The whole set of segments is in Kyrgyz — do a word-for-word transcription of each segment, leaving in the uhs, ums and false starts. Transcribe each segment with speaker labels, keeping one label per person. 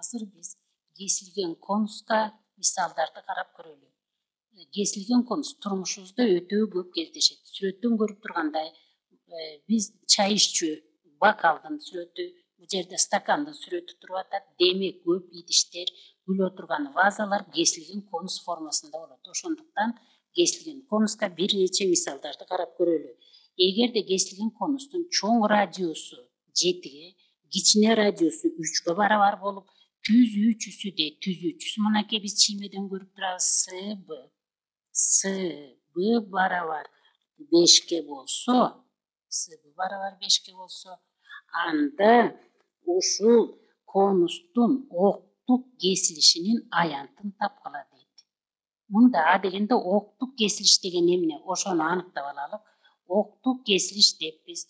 Speaker 1: азыр биз кесилген конуска мисалдарды карап көрөлү. Кесилген конус турмушубузда өтө көп кездешет. Сүрөттөн көрүп тургандай, биз чай иччү бокалдын сүрөтү, бул жерде стакандын сүрөтү туруп атат. Демек көп идиштер, күлө турган вазалар кесилген конус формасында болот. Ошондуктан кесилген конуска бир нече мисалдарды карап көрөлү. Эгерде кесилген конустун чоң радиусу жетиге, кичине радиусу үчкө барабар болуп, түзүүчүсү де түзүүчүсү мынакей биз чиймеден көрүп турабыз. С Б С Б барабар бешке болсо, С Б барабар бешке болсо, анда ушул конустун октук кесилишинин аянтын тапкыла дейт. Мында а дегенде октук кесилиш деген эмне? Ошону аныктап алалы. Октук кесилиш деп биз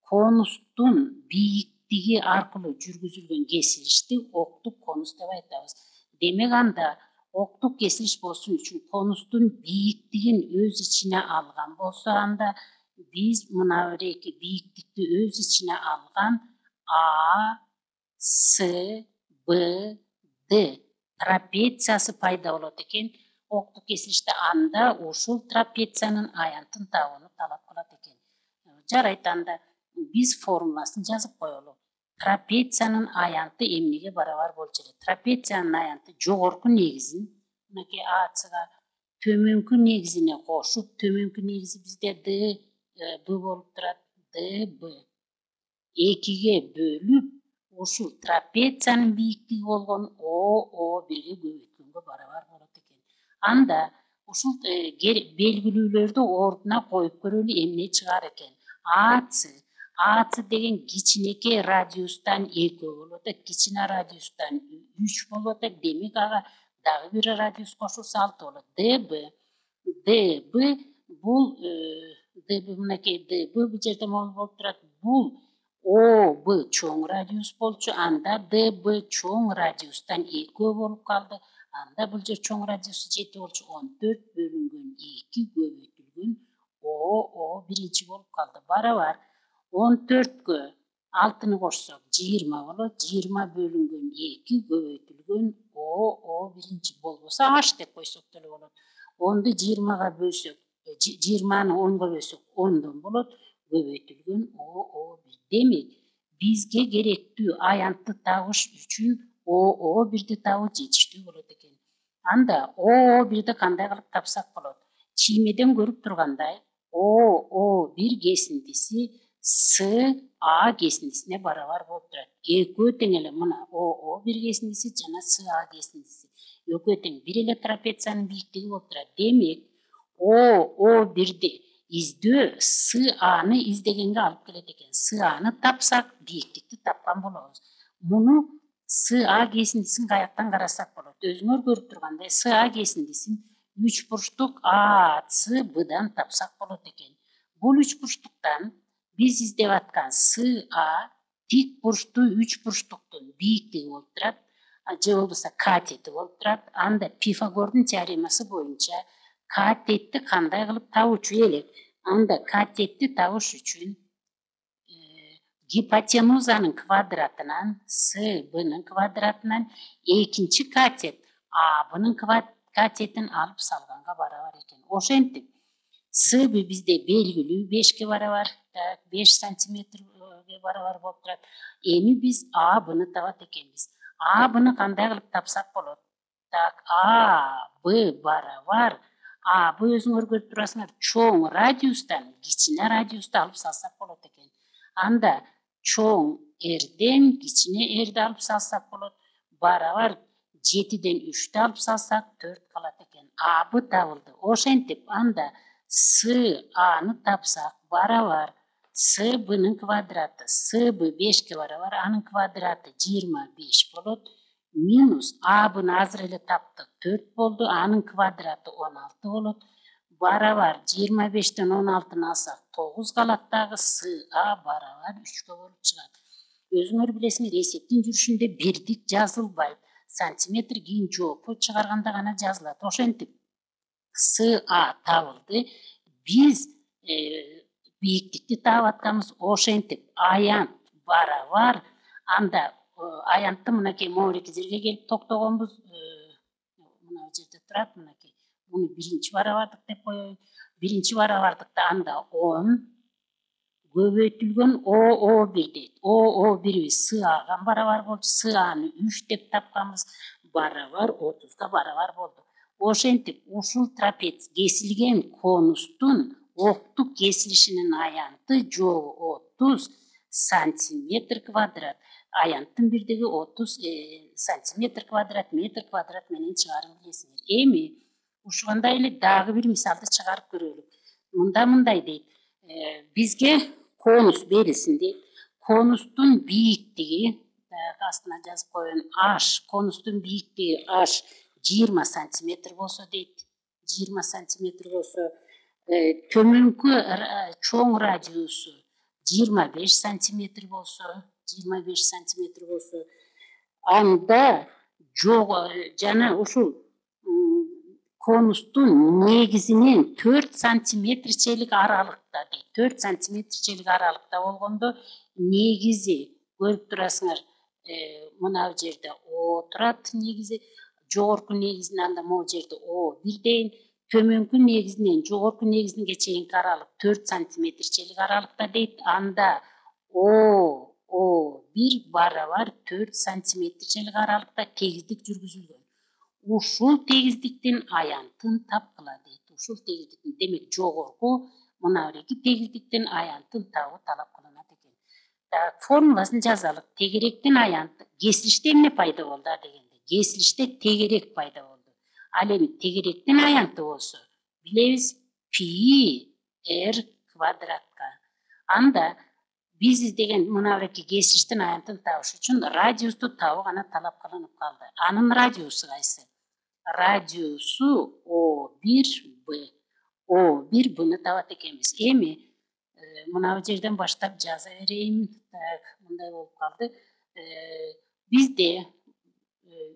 Speaker 1: конустун бийиктиги аркылуу жүргүзүлгөн кесилишти октук конус деп айтабыз. Демек анда октук кесилиш болушун үчүн конустун бийиктигин өз ичине алган болсо, анда биз мына бир бийиктикти өз ичине алган А, С, Б, Д трапециясы пайда болот экен. Октук кесилиште анда ушул трапециянын аянтын табууну талап кылат экен. Жарайт, анда биз формуласын жазып коелу. Трапециянын аянты эмнеге барабар болчу эле? Трапециянын аянты жогорку негизин, мынакей АЦга төмөнкү негизине кошуп, төмөнкү негизи бизде Д Б болуп турат. Д Б экиге бөлүп, ушул трапециянын бийиктиги болгон О О бирге көбөйткөнгө барабар болот экен. Анда ушул белгилүүлөрдү ордуна коюп көрөлү, эмне чыгар экен? АЦ АЦ деген кичинекей радиустан экөө болуп атат, кичине радиустан үч болуп атат. Демек ага дагы бир радиус кошулса алты болот. Д Б Д Б бул Д Б мынакей Д Б бул жерде болуп турат. Бул О Б чоң радиус болчу, анда Д Б чоң радиустан экөө болуп калды. Анда бул жер чоң радиусу жети болчу. он төрт бөлүнгөн эки көбөйтүлгөн О О биринчи болуп калды. Барабар он төрткө алтыны кошсок жыйырма болот. жыйырма бөлүнгөн эки көбөйтүлгөн О О биринчи болбосо H деп койсок деле болот. онду жыйырмага бөлсөк, жыйырманы онго бөлсөк ондон болот, көбөйтүлгөн О О бир. Демек бизге керектүү аянтты табыш үчүн О О бирди табуу жетиштүү болот экен. Анда О О бирди кандай кылып тапсак болот? Чиймеден көрүп тургандай, О О бир кесиндиси С А кесиндисине барабар болуп турат. Экөө тең эле мына О О бир кесиндиси жана С А кесиндиси. Экөө тең бир эле трапециянын бийиктиги болуп турат. Демек О О бирди издөө С Аны издегенге алып келет экен. С Аны тапсак, бийиктикти тапкан болобуз. Муну С А кесиндисин каяктан карасак болот? Өзүңөр көрүп тургандай, С А кесиндисин үч бурчтук А С Бдан тапсак болот экен. Бул үч бурчтуктан биз издеп аткан С А тик бурчтуу үч бурчтуктун бийиктиги болуп турат, же болбосо катети болуп турат. Анда Пифагордун теоремасы боюнча катетти кандай кылып табуучу элек? Анда катетти табыш үчүн гипотенузанын квадратынан С Бнын квадратынан экинчи катет А Бнын катетин алып салганга барабар экен. Ошентип С Б бизде белгилүү бешке барабар, беш сантиметрге барабар болуп турат. Эми биз А Бны табат экенбиз. А Бны кандай кылып тапсак болот? Так, А Б барабар, А Б өзүңөр көрүп турасыңар, чоң радиустан кичине радиусту алып салсак болот экен. Анда чоң Рден кичине Рди алып салсак болот. Барабар жетиден үчтү алып салсак төрт калат экен. А Б табылды. Ошентип анда С Аны тапсак барабар С Бнын квадраты, С Б бешке барабар, анын квадраты жыйырма беш болот. Минус А Бны азыр эле таптык, төрт болду, анын квадраты он алты болот. Барабар жыйырма бештен он алтыны алсак тогуз калат дагы. С А барабар үчкө болуп чыгат. Өзүңөр билесиңер, эсептин жүрүшүндө бирдик жазылбайт. Сантиметр кийин жоопу чыгарганда гана жазылат. Ошентип С А табылды. Биз бийиктикти таап атканбыз. Ошентип аянт барабар, анда аянтты мынакей могуреки жерге келип токтогонбуз. Мына жерде турат, мынакей. Муну биринчи барабардык деп коелу. Биринчи барабардыкта анда он көбөйтүлгөн о о бир дейт. о о бирибиз с ага барабар болчу. С аны үч деп тапканбыз. Барабар отузга барабар болду. Ошентип ушул трапец кесилген конустун октук кесилишинин аянты жогу отуз сантиметр квадрат. Аянттын бирдиги отуз сантиметр квадрат, метр квадрат менен чыгарып билесиңер. Эми ушугандай эле дагы бир мисалды чыгарып көрөлүк. Мында мындай дейт. Бизге конус берилсин дейт. Конустун бийиктиги, астына жазып коеюн, h, конустун бийиктиги h жыйырма сантиметр болсо дейт. жыйырма сантиметр болсо, төмөнкү чоң радиусу жыйырма беш сантиметр болсо, жыйырма беш сантиметр болсо, анда жогу жана ушул конустун негизинен төрт сантиметрчелик аралыкта дейт. төрт сантиметрчелик аралыкта болгондо негизи көрүп турасыңар, мына бу жерде о турат негизи, жогорку негизинен анда могу жерде о бир дейин, төмөнкү негизинен жогорку негизинге чейинки аралык төрт сантиметрчелик аралыкта дейт. Анда о о бир барабар төрт сантиметрчелик аралыкта тегиздик жүргүзүлгөн. Ушул тегиздиктин аянтын тапкыла дейт. Ушул тегиздиктин, демек жогорку мына бирки тегиздиктин аянтын табуу талап кылынат экен. Формуласын жазалы. Тегеректин аянты кесилиште эмне пайда болду дегенде? Кесилиште тегерек пайда болду. Ал эми тегеректин аянты болсо, билебиз пи р квадратка. Анда биз издеген мына бирки кесилиштин аянтын табыш үчүн радиусту табуу гана талап кылынып калды. Анын радиусу кайсы? Радиусу о бир б. о бир бны табат экенбиз. Эми мына бу жерден баштап жаза берейин. Мындай болуп калды. Бизде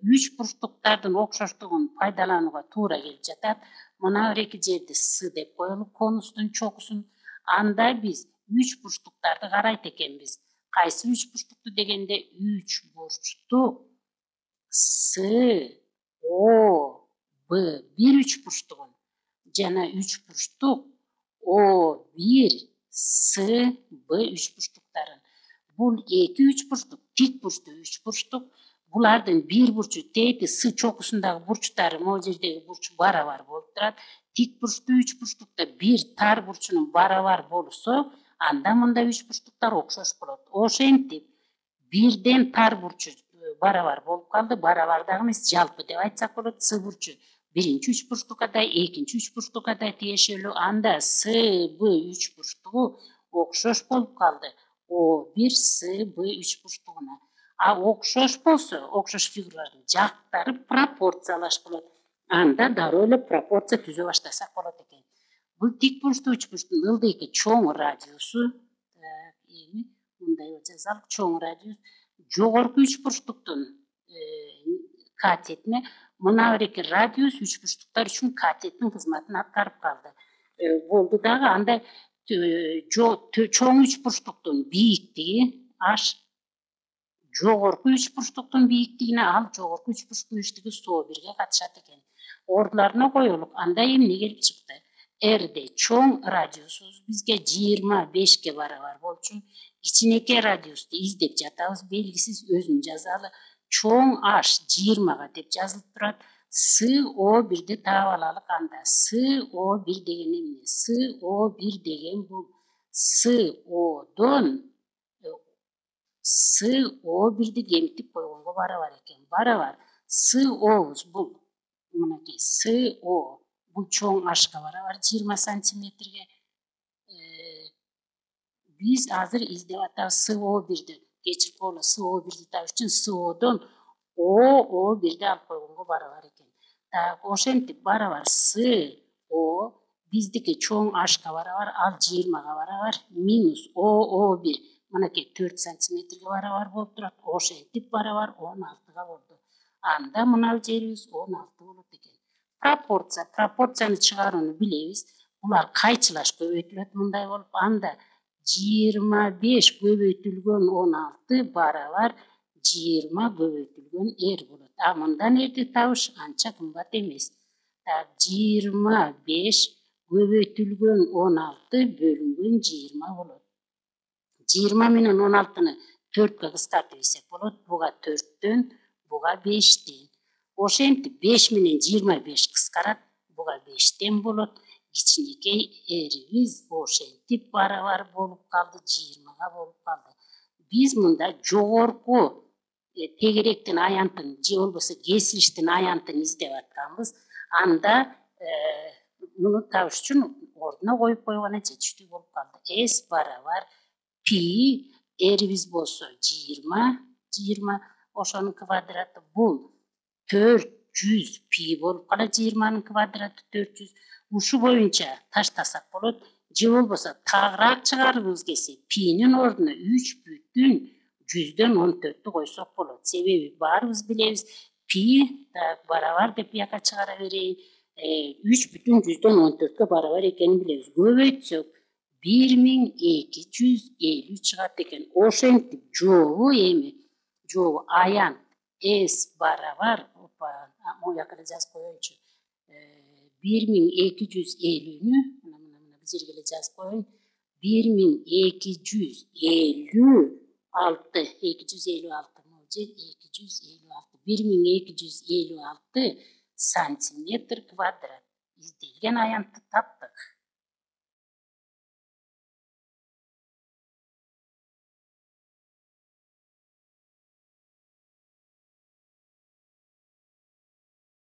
Speaker 1: үч бурчтуктардын окшоштугун пайдаланууга туура келип жатат. Мына бир эки жерди с деп коелук, конустун чокусун. Анда биз үч бурчтуктарды карайт экенбиз. Кайсы үч бурчтукту дегенде, үч бурчтук с о б бир үч бурчтугун жана үч бурчтук о бир с б үч бурчтуктарын. Бул эки үч бурчтук, тик бурчтуу үч бурчтук. Булардын бир бурчу тети с чокусундагы бурчтары могу жердеги бурч барабар болуп турат. Тик бурчтуу үч бурчтукта бир тар бурчунун барабар болсо, анда мында үч бурчтуктар окшош болот. Ошентип бирден тар бурчу барабар болуп калды. Барабар дагы эмес, жалпы деп айтсак болот. С бурчу биринчи үч бурчтукка да, экинчи үч бурчтукка да тиешелүү. Анда с б үч бурчтугу окшош болуп калды о бир с б үч бурчтугуна. А окшош болсо, окшош фигуралардын жактары пропорциялаш болот. Анда дароо эле пропорция түзө баштасак болот экен. Бул тик бурчтуу үч бурчтун ылдыйкы чоң радиусу, эми мындай жазалык, чоң радиус жогорку үч бурчтуктун катетине, мына бир эки радиус үч бурчтуктар үчүн катеттин кызматын аткарып калды. Болду дагы анда чоң үч бурчтуктун бийиктиги h, жогорку үч бурчтуктун бийиктигине, ал жогорку үч бурчтуктун бийиктиги сто бирге катышат экен. Ордуларына коелук. Анда эмне келип чыкты? R'де чоң радиусубуз бизге жыйырма бешке барабар болчу. Кичинекей радиусту издеп жатабыз, белгисиз, өзүн жазалы. Чоң h жыйырмага деп жазылып турат. с о бирди таап алалык анда. с о бир деген эмне? с о бир деген бул с одон с о бирди кемитип койгонго барабар экен. Барабар. с обуз бул мынакей с о бул чоң hга барабар жыйырма сантиметрге. Биз азыр издеп атабыз с о бирди. Кечирип койгула, с о бирди табыш үчүн с одон о о бирди алып койгонго барабар экен. Так, ошентип барабар с о биздики чоң hга барабар, ал жыйырмага барабар, минус о о бир мынакей төрт сантиметрге барабар болуп турат. Ошентип барабар он алтыга болду. Анда мына жерибиз он алты болот экен. Пропорция, пропорцияны чыгарууну билебиз. Булар кайчылаш көбөйтүлөт мындай болуп. Анда жыйырма беш көбөйтүлгөн он алты барабар жыйырма көбөйтүлгөн r болот. А мындан рди табыш анча кымбат эмес. Так, жыйырма беш көбөйтүлгөн он алты бөлүнгөн жыйырма болот. жыйырма менен он алтыны төрткө кыскартып ийсек болот. Буга төрттөн, буга бештен. Ошентип беш менен жыйырма беш кыскарат, буга бештен болот. Кичинекей эрибиз ошентип барабар болуп калды, жыйырмага болуп калды. Биз мында жогорку тегеректин аянтын же болбосо кесилиштин аянтын издеп атканбыз. Анда муну табыш үчүн ордуна коюп койгону жетиштүү болуп калды. S барабар пи эрибиз болсо жыйырма, жыйырма ошонун квадраты бул төрт жүз пи болуп калат. жыйырманын квадраты төрт жүз. Ушу боюнча таштасак болот. Же болбосо тагыраак чыгаргыбыз келсе пинин ордуна үч бүтүн жүздөн он төрттү койсок болот. Себеби баарыбыз билебиз пи барабар деп бияка чыгара берейин. үч бүтүн жүздөн он төрткө барабар экенин билебиз. Көбөйтсөк бир миң эки жүз элүү чыгат экен. Ошентип жообу эми жообу аян S барабар могу жака эле жазып коеюнчу. бир миң эки жүз элүүнү мына мына мына бул жерге эле жазып коеюн. бир миң эки жүз элүү алты, эки жүз элүү алты могу жер эки жүз элүү алты. бир миң эки жүз элүү алты сантиметр квадрат. Изделген аянтты таптык.